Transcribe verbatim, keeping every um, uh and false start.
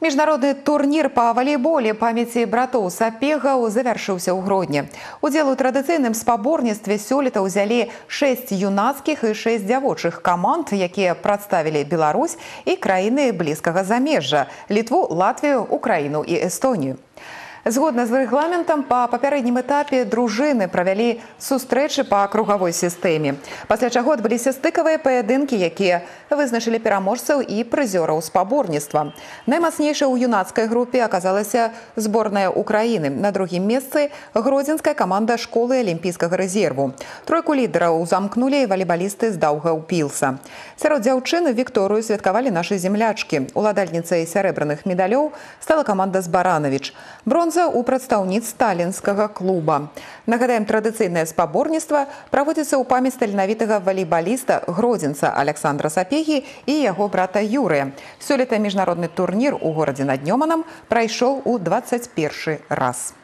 Міжнародны турнір па валейболе памяці братоў Сапегаў завяршыўся ў Гродні. Удзел у традыцыйным спаборніцтве сёлета ўзялі шэсць юнацкіх і шэсць дзявочых каманд, якія прадставілі Беларусь і краіны блізкага замежжа – Літву, Латвію, Украіну і Эстонію. Згодна з рэгламентам, па папярэднім этапе дружыны правялі сустрэчы па кругавой сістэме. Пасля чаго адбыліся стыкавыя паядынкі, якія вызначылі пераможцаў і прызёраў спаборніцтва. Наймацнейшай у юнацкай групе аказалася зборная Украіны. На другім месцы гродзенская каманда школы алімпійскага рэзерву. Тройку лідараў замкнулі валейбалісты з Даўгаўпілса. Сярод дзяўчын Вікторыю святкавалі нашы землячкі. Уладальніцай сярэбраных медалёў стала каманда з Баранавіч. Бронза у прадстаўніц сталінскага клуба. Нагадаем, традыцыйнае спаборніцтва праводзіцца ў памяць таленавітага валейбаліста гродзенца Александра Сапегі і яго брата Юрыя. Сёлета міжнародны турнір у горадзе над Нёманам прайшоў у дваццаць першы раз.